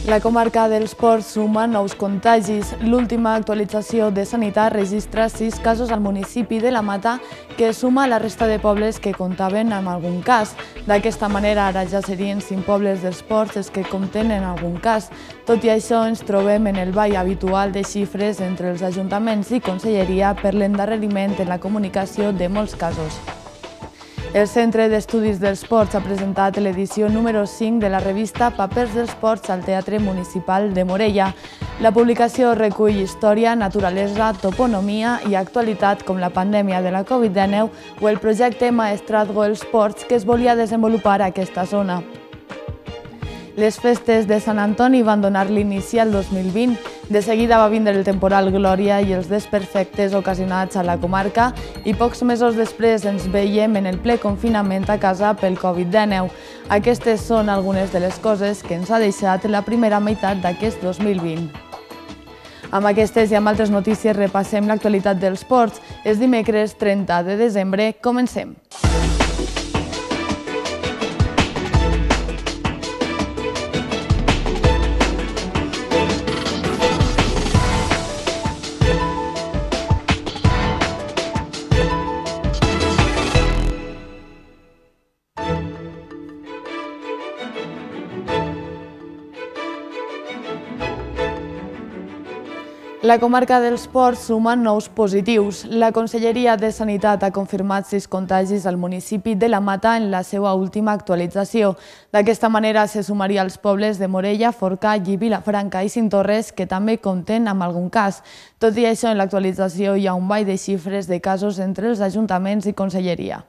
La comarca dels Ports suma nous contagis. L'última actualització de Sanitat registra 6 casos al municipi de La Mata, que suma a la resta de pobles que comptaven amb algun cas. D'aquesta manera, ara ja serien 5 pobles dels Ports els que compten en algun cas. Tot i això, ens trobem en el ball habitual de xifres entre els ajuntaments i conselleria per l'endarreriment en la comunicació de molts casos. El Centre d'Estudis dels Ports ha presentat l'edició número 5 de la revista Papers dels Ports al Teatre Municipal de Morella. La publicació recull història, naturalesa, toponomia i actualitat com la pandèmia de la Covid-19 o el projecte Maestrazgo els Ports que es volia desenvolupar a aquesta zona. Les festes de Sant Antoni van donar l'inici al 2020. De seguida va vindre el temporal Glòria i els desperfectes ocasionats a la comarca i pocs mesos després ens veiem en el ple confinament a casa pel Covid-19. Aquestes són algunes de les coses que ens ha deixat la primera meitat d'aquest 2020. Amb aquestes i amb altres notícies repassem l'actualitat dels ports. És dimecres 30 de desembre. Comencem. La comarca dels Ports suma nous positius. La Conselleria de Sanitat ha confirmat 6 contagis al municipi de La Mata en la seva última actualització. D'aquesta manera se sumaria als pobles de Morella, Forcall, Vilafranca i Cinctorres, que també compten amb algun cas. Tot i això, en l'actualització hi ha un ball de xifres de casos entre els ajuntaments i conselleria.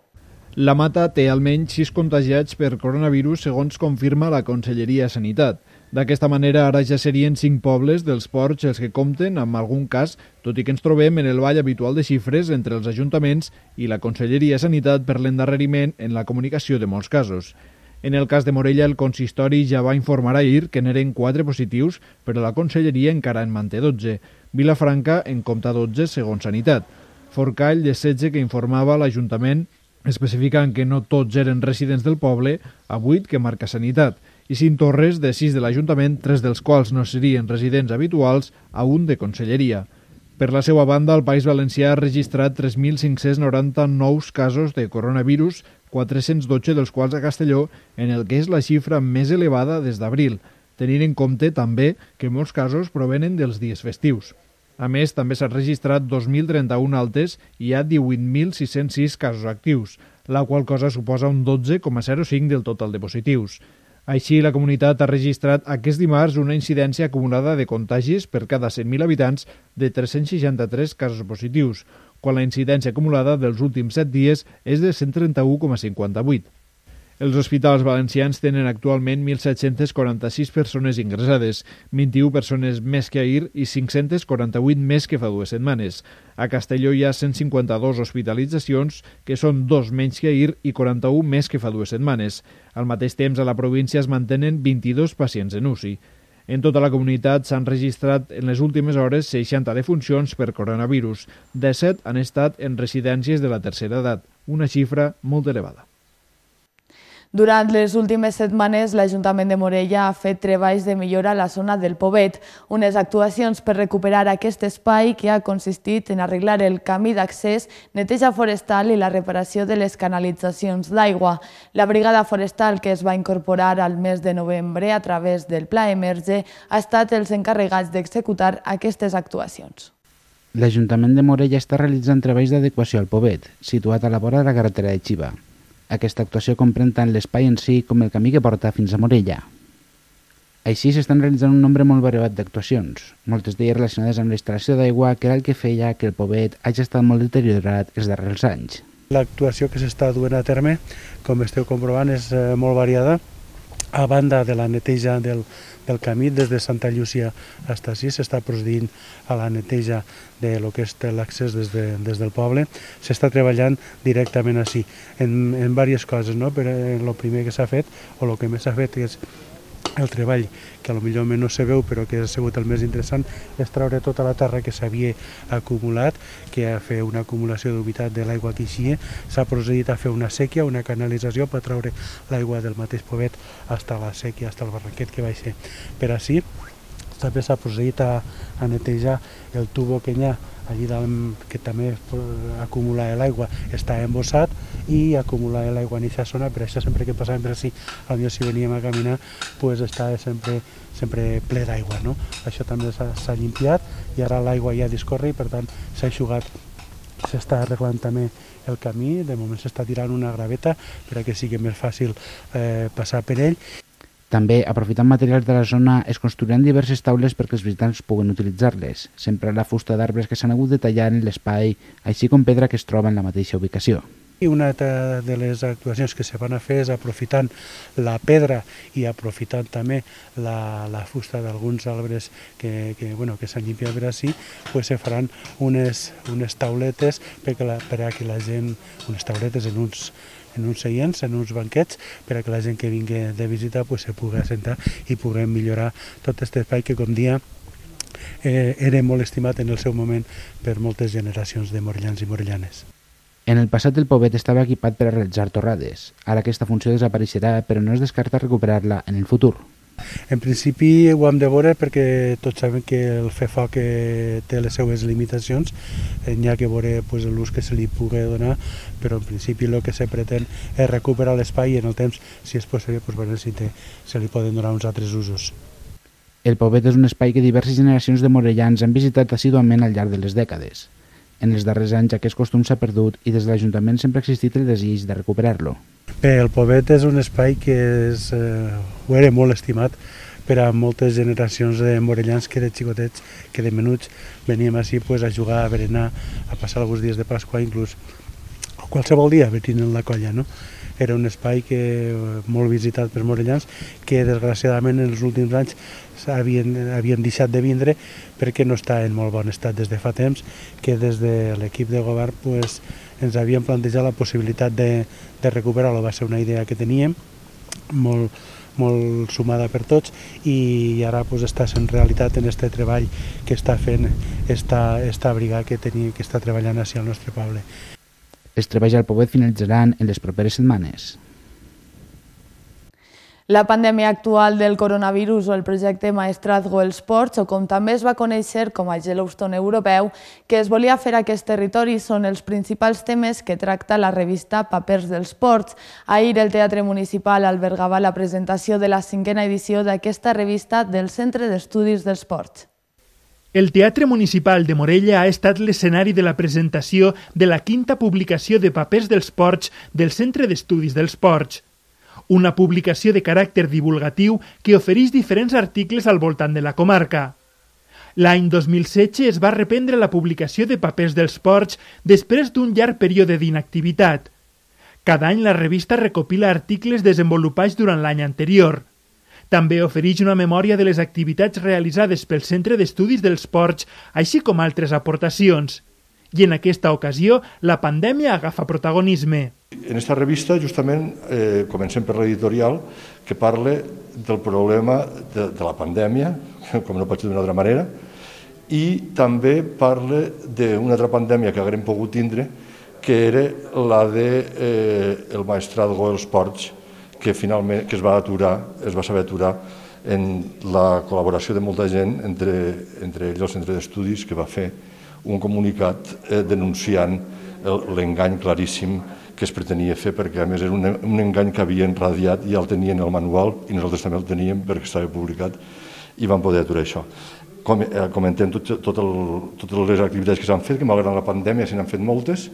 La Mata té almenys 6 contagiats per coronavirus, segons confirma la Conselleria de Sanitat. D'aquesta manera, ara ja serien 5 pobles dels ports els que compten amb algun cas, tot i que ens trobem en el ball habitual de xifres entre els ajuntaments i la Conselleria de Sanitat per l'endarreriment en la comunicació de molts casos. En el cas de Morella, el consistori ja va informar ahir que n'eren 4 positius, però la Conselleria encara en manté 12. Vilafranca en compta 12, segons Sanitat. Forcall, de 16 que informava l'Ajuntament, especificant que no tots eren residents del poble, a 8 que marca Sanitat. I Cinctorres, de 6 de l'Ajuntament, 3 dels quals no serien residents habituals, a 1 de Conselleria. Per la seva banda, el País Valencià ha registrat 3.590 nous casos de coronavirus, 412 dels quals a Castelló, en el que és la xifra més elevada des d'abril, tenint en compte també que molts casos provenen dels dies festius. A més, també s'han registrat 2.031 altes i hi ha 18.606 casos actius, la qual cosa suposa un 12,05 del total de positius. Així, la comunitat ha registrat aquest dimarts una incidència acumulada de contagis per cada 100.000 habitants de 363 casos positius, quan la incidència acumulada dels últims 7 dies és de 131,58. Els hospitals valencians tenen actualment 1.746 persones ingressades, 21 persones més que ahir i 548 més que fa 2 setmanes. A Castelló hi ha 152 hospitalitzacions, que són 2 menys que ahir i 41 més que fa 2 setmanes. Al mateix temps, a la província es mantenen 22 pacients en UCI. En tota la comunitat s'han registrat en les últimes hores 60 defuncions per coronavirus. 17 han estat en residències de la tercera edat, una xifra molt elevada. Durant les últimes setmanes, l'Ajuntament de Morella ha fet treballs de millora a la zona del Pobet, unes actuacions per recuperar aquest espai que ha consistit en arreglar el camí d'accés, neteja forestal i la reparació de les canalitzacions d'aigua. La brigada forestal, que es va incorporar al mes de novembre a través del Pla Emerge, ha estat els encarregats d'executar aquestes actuacions. L'Ajuntament de Morella està realitzant treballs d'adequació al Pobet, situat a la vora de la carretera de Xiva. Aquesta actuació comprèn tant l'espai en si com el camí que porta fins a Morella. Així s'estan realitzant un nombre molt variat d'actuacions, moltes d'elles relacionades amb la instal·lació d'aigua, que era el que feia que el Pobet hagi estat molt deteriorat els darrers anys. L'actuació que s'està duent a terme, com esteu comprovant, és molt variada. A banda de la neteja del camí, des de Santa Llúcia fins ací, s'està procedint a la neteja de lo que és l'accés des del poble. S'està treballant directament ací, en diverses coses, no? Però el primer que s'ha fet, o el que més s'ha fet, és el treball, que potser no se veu però que ha sigut el més interessant, és treure tota la terra que s'havia acumulat, que a fer una acumulació d'humitat de l'aigua que eixia. S'ha procedit a fer una sèquia, una canalització per treure l'aigua del mateix Povet fins a la sèquia, fins al barranquet que va ser per ací. També s'ha procedit a netejar el tubo que hi ha allí dalt, que també acumula l'aigua, està embossat, i acumular l'aigua en aquesta zona. Per això sempre que passàvem per ací, potser si veníem a caminar, pues està sempre ple d'aigua, no? Això també s'ha limpiat i ara l'aigua ja discorre i per tant s'ha eixugat. S'està arreglant també el camí, de moment s'està tirant una graveta perquè sigui més fàcil passar per ell. També, aprofitant materials de la zona, es construiran diverses taules perquè els visitants puguen utilitzar-les, sempre la fusta d'arbres que s'han hagut de tallar en l'espai, així com pedra que es troba en la mateixa ubicació. I una de les actuacions que se van a fer és aprofitant la pedra i aprofitant també la fusta d'alguns arbres que s'han limpiat per ací, pues se faran unes tauletes per a que la gent, unes tauletes en uns seients, en uns banquets, per a que la gent que vingui de visita pues, se pugui assentar i puguem millorar tot aquest espai que, com dia, era molt estimat en el seu moment per moltes generacions de morellans i morellanes. En el passat el Povet estava equipat per a realitzar torrades. Ara aquesta funció desapareixerà, però no es descarta recuperar-la en el futur. En principi ho hem de veure perquè tots sabem que el fer foc té les seues limitacions, n'hi ha que veure l'ús que se li pugui donar, però en principi el que se pretén és recuperar l'espai i en el temps, si és possible, si se li poden donar uns altres usos. El Povet és un espai que diverses generacions de morellans han visitat assíduament al llarg de les dècades. En els darrers anys aquest costum s'ha perdut i des de l'Ajuntament sempre ha existit el desig de recuperar-lo. Bé, el Povet és un espai que ho era molt estimat per a moltes generacions de morellans que de xicotets, que de menuts veníem així a jugar, a berenar, a passar alguns dies de Pasqua, inclús qualsevol dia venint en la colla, no? Era un espai molt visitat per morellans que desgraciadament en els últims anys havien deixat de vindre perquè no està en molt bon estat des de fa temps, que des de l'equip de govern ens havien plantejat la possibilitat de recuperar-lo. Va ser una idea que teníem molt sumada per tots i ara està sent realitat en aquest treball que està fent esta brigada que està treballant així al nostre poble. Els treballs al Povet finalitzaran en les properes setmanes. La pandèmia actual del coronavirus o el projecte Maestrazgo els Ports, o com també es va conèixer com a Yellowstone europeu, que es volia fer a aquest territori, són els principals temes que tracta la revista Papers dels Ports. Ahir el Teatre Municipal albergava la presentació de la 5a edició d'aquesta revista del Centre d'Estudis dels Ports. El Teatre Municipal de Morella ha estat l'escenari de la presentació de la 5a publicació de Papers dels Ports del Centre d'Estudis dels Ports. Una publicació de caràcter divulgatiu que ofereix diferents articles al voltant de la comarca. L'any 2016 es va reprendre la publicació de Papers dels Ports després d'un llarg període d'inactivitat. Cada any la revista recopila articles desenvolupats durant l'any anterior. També ofereix una memòria de les activitats realitzades pel Centre d'Estudis dels Ports, així com altres aportacions. I en aquesta ocasió, la pandèmia agafa protagonisme. En aquesta revista, justament, comencem per l'editorial, que parla del problema de la pandèmia, com no pot ser d'una altra manera, i també parla d'una altra pandèmia que haguem pogut tindre, que era la del Maestrazgo dels Ports, que finalment es va saber aturar en la col·laboració de molta gent, entre ells el Centre d'Estudis, que va fer un comunicat denunciant l'engany claríssim que es pretenia fer, perquè a més era un engany que havien radiat, ja el tenien el manual i nosaltres també el teníem perquè estava publicat i vam poder aturar això. Comentem totes les activitats que s'han fet, que malgrat la pandèmia se n'han fet moltes.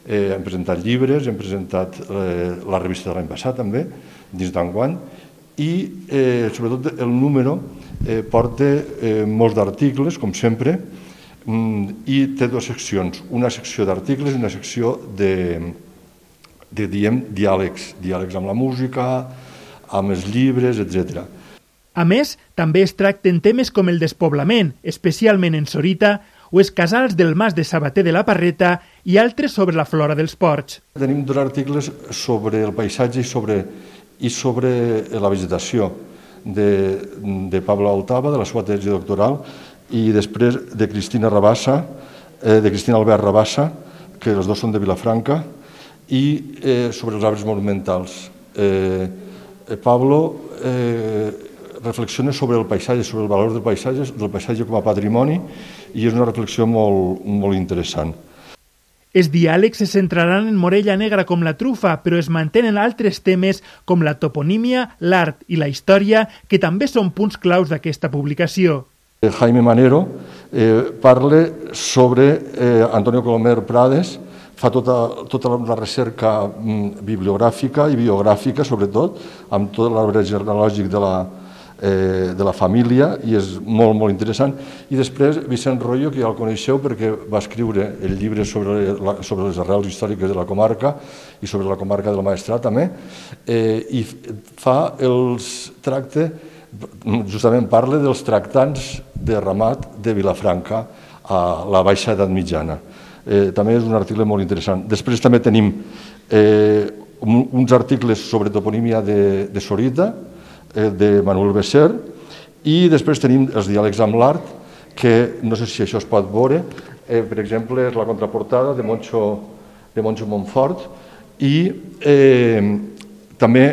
Hem presentat llibres, hem presentat la revista de l'any passat també, dins d'enguany, i sobretot el número porta molts d'articles, com sempre, i té dues seccions, una secció d'articles i una secció de diàlegs amb la música, amb els llibres, etc. A més, també es tracten temes com el despoblament, especialment en Sorita, o els casals del Mas de Sabater de la Parreta i altres sobre la flora dels ports. Tenim dos articles sobre el paisatge i sobre la vegetació de Pablo Altava, de la seva tesi doctoral, i després de Cristina Albert Rabassa, que els dos són de Vilafranca, i sobre els arbres monumentals. Pablo reflexiona sobre el paisatge, sobre el valor del paisatge com a patrimoni, i és una reflexió molt interessant. Els diàlegs se centraran en Morella Negra com la trufa, però es mantenen altres temes com la toponímia, l'art i la història, que també són punts claus d'aquesta publicació. Jaime Manero parla sobre Antonio Colomer Prades, fa tota la recerca bibliogràfica i biogràfica, sobretot, amb tot l'arbre genealògic de la família, i és molt interessant. I després Vicent Royo, que ja el coneixeu perquè va escriure el llibre sobre les arrels històriques de la comarca i sobre la comarca del Maestrat també, i justament parla dels tractants de ramat de Vilafranca a la Baixa Edat Mitjana. També és un article molt interessant. Després també tenim uns articles sobre toponímia de Sorita, de Manuel Besser, i després tenim els diàlegs amb l'art, que no sé si això es pot veure, per exemple, és la contraportada de Moncho Montfort, i també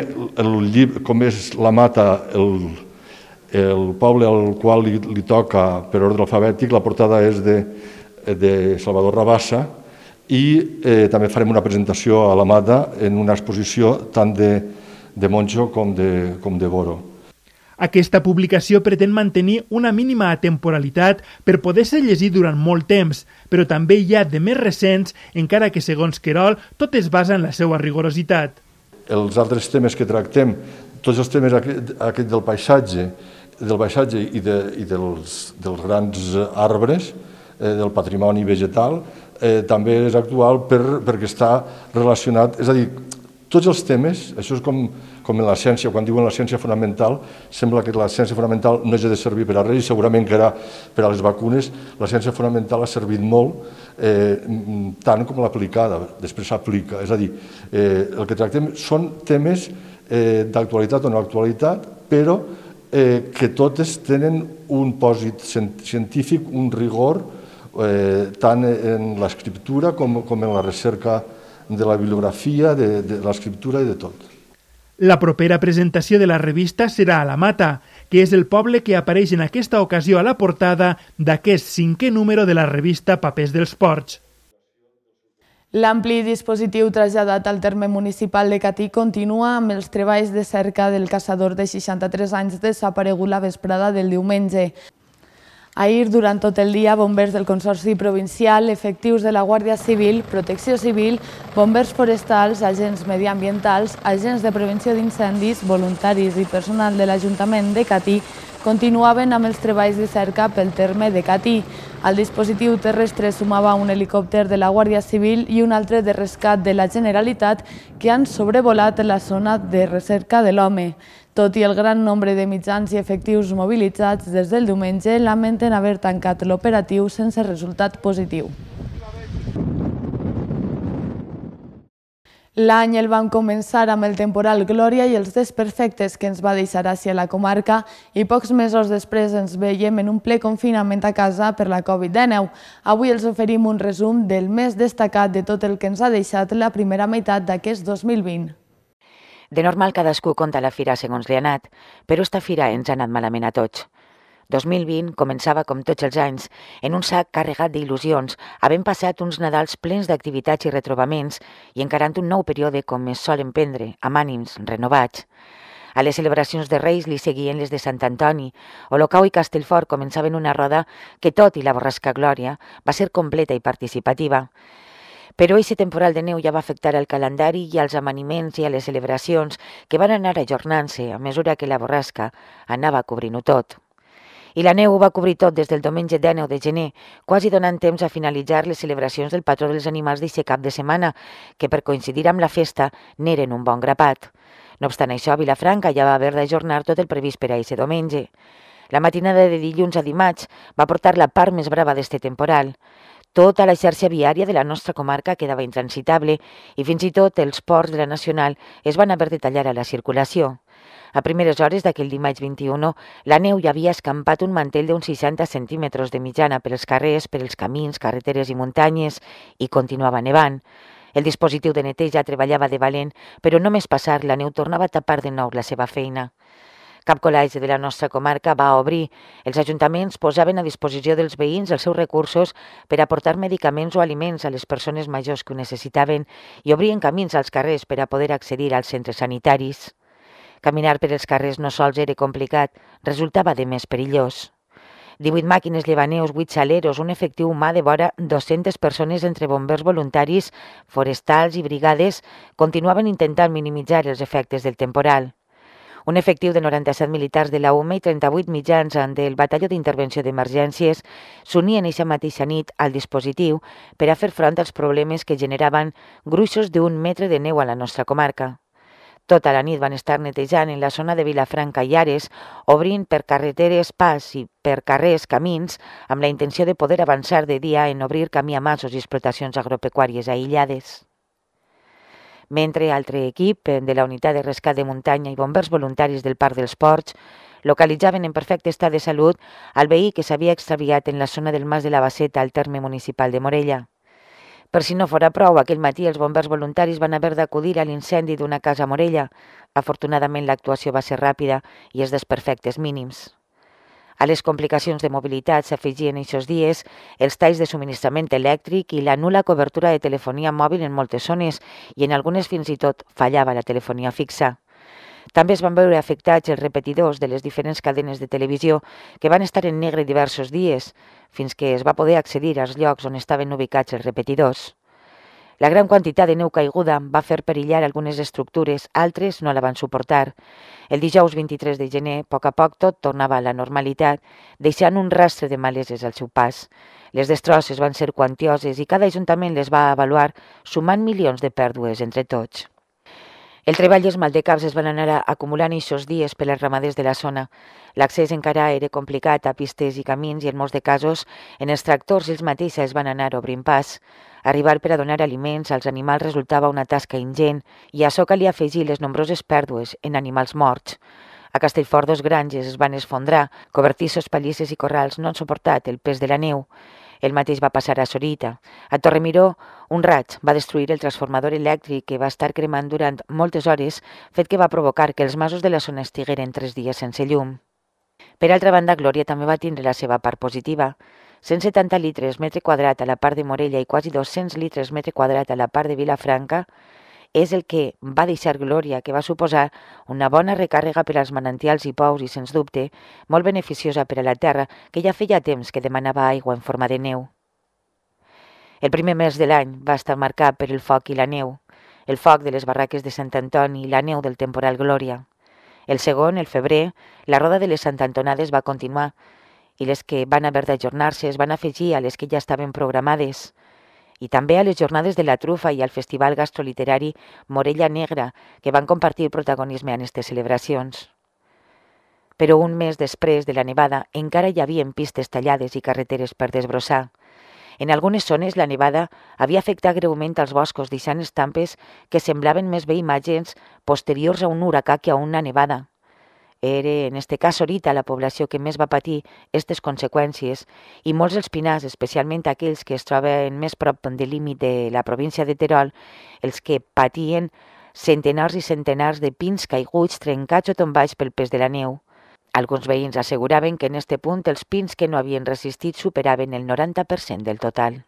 com és la Mata, el poble al qual li toca per ordre alfabètic, la portada és de Salvador Rabassa, i també farem una presentació a la Mata en una exposició tant de Moncho com de Boro. Aquesta publicació pretén mantenir una mínima atemporalitat per poder ser llegit durant molt temps, però també hi ha de més recents, encara que segons Querol tot es basa en la seva rigorositat. Els altres temes que tractem, tots els temes aquest del paisatge i dels grans arbres, del patrimoni vegetal, també és actual perquè està relacionat, és a dir, tots els temes, això és com en la ciència, quan diuen la ciència fonamental, sembla que la ciència fonamental no hagi de servir per a res, i segurament que ara per a les vacunes la ciència fonamental ha servit molt, tant com l'aplicada, després s'aplica. És a dir, el que tractem són temes d'actualitat o no actualitat, però que totes tenen un pòsit científic, un rigor, tant en l'escriptura com en la recerca de la bibliografia, de l'escriptura i de tot. La propera presentació de la revista serà a la Mata, que és el poble que apareix en aquesta ocasió a la portada d'aquest 5è número de la revista Papers dels Ports. L'ampli dispositiu traslladat al terme municipal de Catí continua amb els treballs de cerca del caçador de 63 anys desaparegut la vesprada del diumenge. Ahir, durant tot el dia, bombers del Consorci Provincial, efectius de la Guàrdia Civil, Protecció Civil, bombers forestals, agents mediambientals, agents de prevenció d'incendis, voluntaris i personal de l'Ajuntament de Catí continuaven amb els treballs de cerca pel terme de Catí. Al dispositiu terrestre sumava un helicòpter de la Guàrdia Civil i un altre de rescat de la Generalitat que han sobrevolat la zona de recerca de l'home. Tot i el gran nombre de mitjans i efectius mobilitzats des del diumenge, lamenten haver tancat l'operatiu sense resultat positiu. L'any el van començar amb el temporal Glòria i els desperfectes que ens va deixar hacia la comarca, i pocs mesos després ens veiem en un ple confinament a casa per la Covid-19. Avui els oferim un resum del més destacat de tot el que ens ha deixat la primera meitat d'aquest 2020. De normal cadascú conta la fira segons li ha anat, però esta fira ens ha anat malament a tots. 2020 començava, com tots els anys, en un sac carregat d'il·lusions, havent passat uns Nadals plens d'activitats i retrobaments i encarant un nou període com es solen prendre, amb ànims renovats. A les celebracions de Reis li seguien les de Sant Antoni. Olocau i Castellfort començaven una roda que, tot i la borrasca Glòria, va ser completa i participativa. Però aquest temporal de neu ja va afectar el calendari i als amaniments i a les celebracions que van anar ajornant-se a mesura que la borrasca anava cobrint-ho tot. I la neu ho va cobrir tot des del diumenge 19 de gener, quasi donant temps a finalitzar les celebracions del patró dels animals d'aquest cap de setmana, que per coincidir amb la festa n'eren un bon grapat. No obstant això, a Vilafranca ja va haver d'ajornar tot el previst per a aquest diumenge. La matinada de dilluns a dimarts va portar la part més brava d'este temporal. Tota la xarxa viària de la nostra comarca quedava intransitable i fins i tot els ports de la Nacional es van haver de tallar a la circulació. A primeres hores d'aquell dimarts 21, la neu ja havia escampat un mantell d'uns 60 centímetres de mitjana per els carrers, per els camins, carreteres i muntanyes, i continuava nevant. El dispositiu de neteja treballava de valent, però només passar la neu tornava a tapar de nou la seva feina. Cap col·legi de la nostra comarca va obrir. Els ajuntaments posaven a disposició dels veïns els seus recursos per aportar medicaments o aliments a les persones majors que ho necessitaven i obrien camins als carrers per a poder accedir als centres sanitaris. Caminar per els carrers no sols era complicat, resultava de més perillós. 18 màquines llevaneus, 8 saleros, un efectiu humà de vora 200 persones entre bombers voluntaris, forestals i brigades continuaven intentant minimitzar els efectes del temporal. Un efectiu de 97 militars de la UME i 38 mitjans del Batalló d'Intervenció d'Emergències s'unien eixa mateixa nit al dispositiu per a fer front als problemes que generaven gruixos d'1 metre de neu a la nostra comarca. Tota la nit van estar netejant en la zona de Vilafranca i Ares, obrint per carreteres pas i per carrers camins, amb la intenció de poder avançar de dia en obrir camí a masos i explotacions agropecuàries aïllades. Mentre altre equip de la unitat de rescat de muntanya i bombers voluntaris del Parc dels Ports localitzaven en perfecte estat de salut al veí que s'havia extraviat en la zona del Mas de la Basseta al terme municipal de Morella. Per si no fora prou, aquell matí els bombers voluntaris van haver d'acudir a l'incendi d'una casa a Morella. Afortunadament l'actuació va ser ràpida i els desperfectes mínims. A les complicacions de mobilitat s'afegien aquests dies els talls de subministrament elèctric i la nul·la cobertura de telefonia mòbil en moltes zones i en algunes fins i tot fallava la telefonia fixa. També es van veure afectats els repetidors de les diferents cadenes de televisió que van estar en negre diversos dies, fins que es va poder accedir als llocs on estaven ubicats els repetidors. La gran quantitat de neu caiguda va fer perillar algunes estructures, altres no la van suportar. El dijous 23 de gener, a poc tot tornava a la normalitat, deixant un rastre de maleses al seu pas. Les destrosses van ser quantioses i cada ajuntament les va avaluar, sumant milions de pèrdues entre tots. El treball i els maldecaps es van anar acumulant aquests dies per als ramaders de la zona. L'accés encara era complicat a pistes i camins i en molts de casos en els tractors ells mateixos es van anar obrint pas. Arribar per a donar aliments als animals resultava una tasca ingent i a això calia afegir les nombroses pèrdues en animals morts. A Castellfort 2 granges es van esfondrar, cobertissos, pallisses i corrals no han suportat el pes de la neu. El mateix va passar a Sorita. A Torremiró, un raig va destruir el transformador elèctric que va estar cremant durant moltes hores, fet que va provocar que els masos de la zona estigueren 3 dies sense llum. Per altra banda, Glòria també va tindre la seva part positiva. 170 litres metre quadrat a la part de Morella i quasi 200 litres metre quadrat a la part de Vilafranca és el que va deixar Glòria, que va suposar una bona recàrrega per als manantials i pous i, sens dubte, molt beneficiosa per a la terra, que ja feia temps que demanava aigua en forma de neu. El primer mes de l'any va estar marcat per el foc i la neu, el foc de les barraques de Sant Antoni i la neu del temporal Glòria. El segon, el febrer, la roda de les Sant Antonades va continuar i les que van haver d'ajornar-se es van afegir a les que ja estaven programades, i també a les jornades de la trufa i al festival gastroliterari Morella Negra, que van compartir protagonisme en aquestes celebracions. Però un mes després de la nevada encara hi havia pistes tallades i carreteres per desbrossar. En algunes zones la nevada havia afectat greument als boscos, deixant estampes que semblaven més bé imatges posteriors a un huracà que a una nevada. Era, en este cas, Sorita, la població que més va patir aquestes conseqüències i molts dels pinars, especialment aquells que es troben més prop del límit de la província de Terol, els que patien centenars i centenars de pins caiguts, trencats o tombats pel pes de la neu. Alguns veïns asseguraven que en este punt els pins que no havien resistit superaven el 90% del total.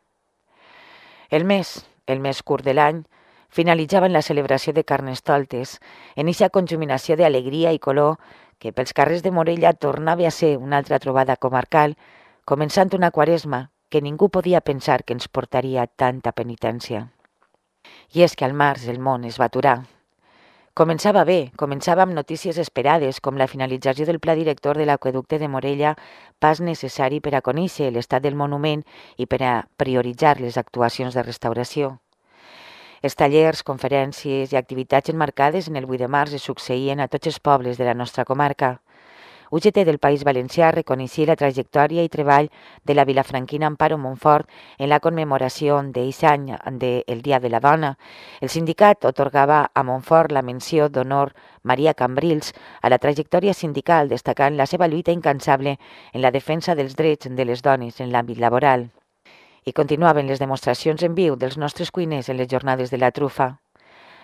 El mes curt de l'any, finalitzava en la celebració de Carnestoltes, en eixa conjuminació d'alegria i color que pels carrers de Morella tornava a ser una altra trobada comarcal, començant una quaresma que ningú podia pensar que ens portaria tanta penitència. I és que al març el món es va aturar. Començava bé, començava amb notícies esperades, com la finalització del pla director de l'aqüeducte de Morella, pas necessari per a conèixer l'estat del monument i per a prioritzar les actuacions de restauració. Els tallers, conferències i activitats emmarcades en el 8 de març es succeïen a tots els pobles de la nostra comarca. UGT del País Valencià reconeixia la trajectòria i treball de la vilafranquina Amparo Montfort en la commemoració d'aquest any del Dia de la Dona. El sindicat atorgava a Montfort la menció d'honor Maria Cambrils a la trajectòria sindical, destacant la seva lluita incansable en la defensa dels drets de les dones en l'àmbit laboral. I continuaven les demostracions en viu dels nostres cuiners en les jornades de la trufa.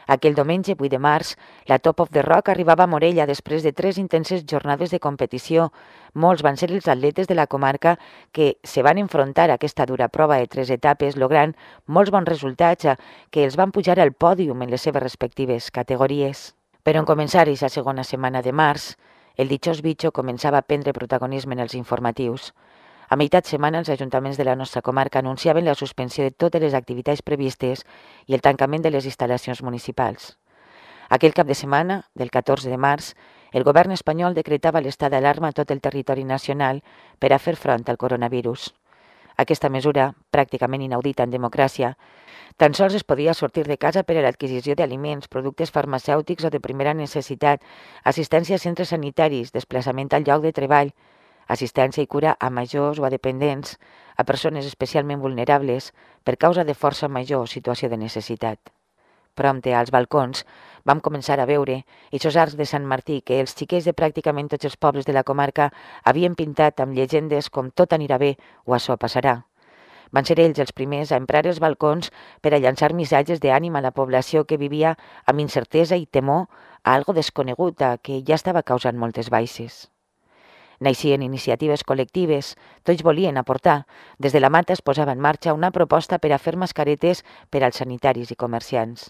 Aquell diumenge 8 de març, la Top of the Rock arribava a Morella després de 3 intenses jornades de competició. Molts van ser els atletes de la comarca que se van enfrontar a aquesta dura prova de 3 etapes, logrant molts bons resultats que els van pujar al pòdium en les seves respectives categories. Però en començar aquesta segona setmana de març, el ditxós bitxo començava a prendre protagonisme en els informatius. A meitat setmana, els ajuntaments de la nostra comarca anunciaven la suspensió de totes les activitats previstes i el tancament de les instal·lacions municipals. Aquell cap de setmana, del 14 de març, el govern espanyol decretava l'estat d'alarma a tot el territori nacional per a fer front al coronavirus. Aquesta mesura, pràcticament inaudita en democràcia, tan sols es podia sortir de casa per a l'adquisició d'aliments, productes farmacèutics o de primera necessitat, assistència a centres sanitaris, desplaçament al lloc de treball, assistència i cura a majors o a dependents, a persones especialment vulnerables per causa de força major o situació de necessitat. Prompte, als balcons, vam començar a veure aquests arcs de Sant Martí que els xiquets de pràcticament tots els pobles de la comarca havien pintat amb llegendes com tot anirà bé o això passarà. Van ser ells els primers a emprar els balcons per a llançar missatges d'ànim a la població que vivia amb incertesa i temor a algo desconegut que ja estava causant moltes baixes. Naixien iniciatives col·lectives, tots volien aportar. Des de la Mata es posava en marxa una proposta per a fer mascaretes per als sanitaris i comerciants.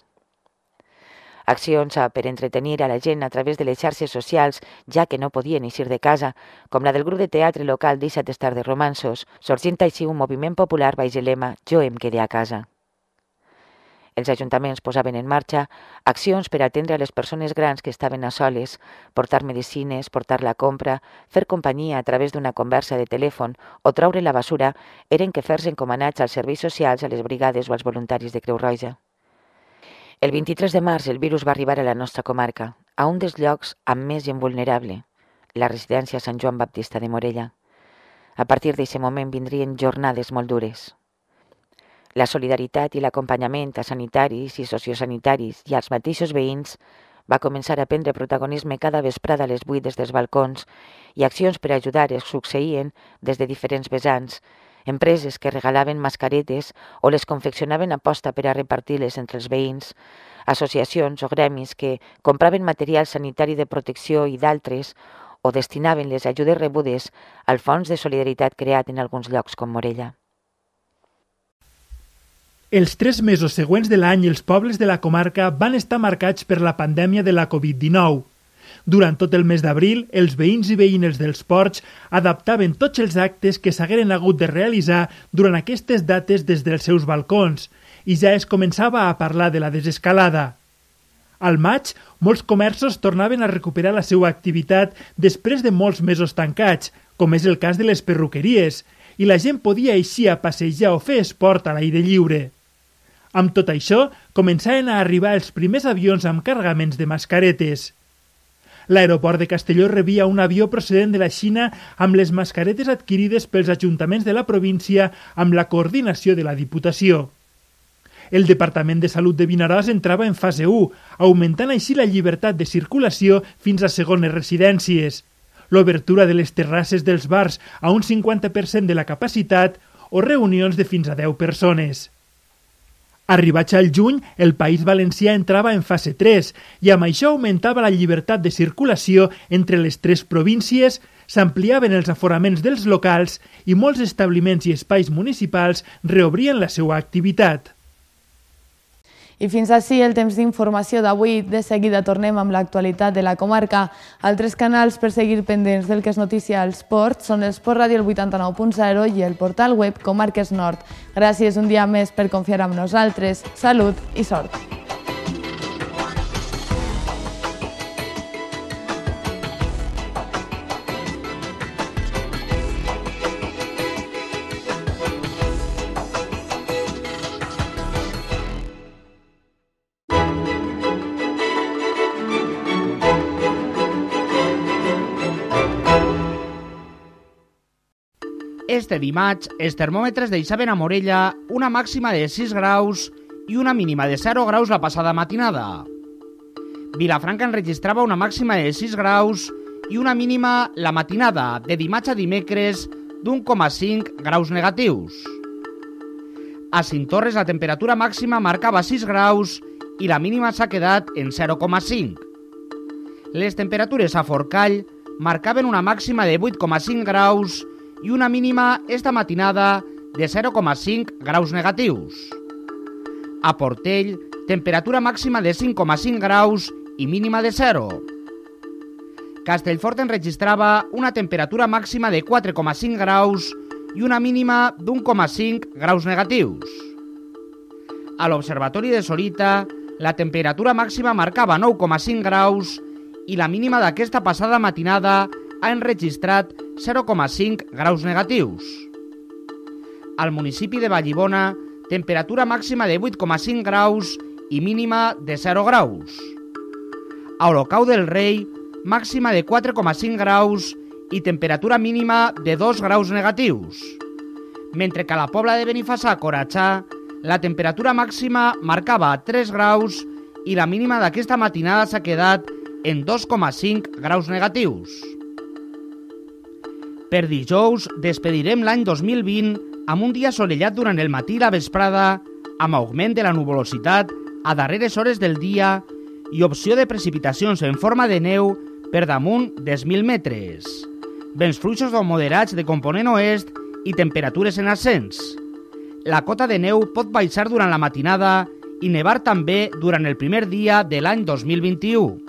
Accions per entretenir a la gent a través de les xarxes socials, ja que no podien eixir de casa, com la del grup de teatre local Deixa't estar de romanços, sorgint així un moviment popular baix el lema Jo em quedé a casa. Els ajuntaments posaven en marxa accions per atendre a les persones grans que estaven a soles, portar medicines, portar la compra, fer companyia a través d'una conversa de telèfon o treure la basura eren quefers encomanats als serveis socials, a les brigades o als voluntaris de Creu Roja. El 23 de març el virus va arribar a la nostra comarca, a un dels llocs amb més gent vulnerable, la residència Sant Joan Baptista de Morella. A partir d'aquest moment vindrien jornades molt dures. La solidaritat i l'acompanyament a sanitaris i sociosanitaris i als mateixos veïns va començar a prendre protagonisme cada vesprada a les 8 des dels balcons i accions per ajudar es succeïen des de diferents vessants, empreses que regalaven mascaretes o les confeccionaven a posta per a repartir-les entre els veïns, associacions o gremis que compraven material sanitari de protecció i d'altres o destinaven les ajudes rebudes al fons de solidaritat creat en alguns llocs com Morella. Els 3 mesos següents de l'any els pobles de la comarca van estar marcats per la pandèmia de la Covid-19. Durant tot el mes d'abril, els veïns i veïnes dels ports adaptaven tots els actes que s'hagueren hagut de realitzar durant aquestes dates des dels seus balcons i ja es començava a parlar de la desescalada. Al maig, molts comerços tornaven a recuperar la seva activitat després de molts mesos tancats, com és el cas de les perruqueries, i la gent podia eixir a passejar o fer esport a l'aire lliure. Amb tot això, començaven a arribar els primers avions amb carregaments de mascaretes. L'aeroport de Castelló rebia un avió procedent de la Xina amb les mascaretes adquirides pels ajuntaments de la província amb la coordinació de la Diputació. El Departament de Salut de Vinaròs entrava en fase 1, augmentant així la llibertat de circulació fins a segones residències, l'obertura de les terrasses dels bars a un 50% de la capacitat o reunions de fins a 10 persones. Arribats al juny, el País Valencià entrava en fase 3 i amb això augmentava la llibertat de circulació entre les 3 províncies, s'ampliaven els aforaments dels locals i molts establiments i espais municipals reobrien la seva activitat. I fins ací el temps d'informació d'avui. De seguida tornem amb l'actualitat de la comarca. Altres canals per seguir pendents del que és notícia al esport són el Sport Ràdio 89.0 i el portal web Comarques Nord. Gràcies un dia més per confiar en nosaltres. Salut i sort! Este dimarts, els termòmetres deixaven a Morella una màxima de 6 graus i una mínima de 0 graus la passada matinada. Vilafranca enregistrava una màxima de 6 graus i una mínima la matinada de dimarts a dimecres d'1,5 graus negatius. A Cinctorres la temperatura màxima marcava 6 graus i la mínima s'ha quedat en 0,5. Les temperatures a Forcall marcaven una màxima de 8,5 graus i una mínima esta matinada de 0,5 graus negatius. A Portell, temperatura màxima de 5,5 graus i mínima de 0. Castellfort enregistrava una temperatura màxima de 4,5 graus i una mínima d'1,5 graus negatius. A l'Observatori de Sorita, la temperatura màxima marcava 9,5 graus i la mínima d'aquesta passada matinada ha enregistrat 0,5 graus negatius. Al municipi de Vallibona, temperatura màxima de 8,5 graus i mínima de 0 graus. A Olocau del Rei, màxima de 4,5 graus i temperatura mínima de 2 graus negatius. Mentre que a la Pobla de Benifassà, Coratxà, la temperatura màxima marcava 3 graus i la mínima d'aquesta matinada s'ha quedat en 2,5 graus negatius. Per dijous despedirem l'any 2020 amb un dia assolellat durant el matí i la vesprada, amb augment de la nuvolositat a darreres hores del dia i opció de precipitacions en forma de neu per damunt dels 1.000 metres. Vents fluixos o moderats de component oest i temperatures en ascens. La cota de neu pot baixar durant la matinada i nevar també durant el primer dia de l'any 2021.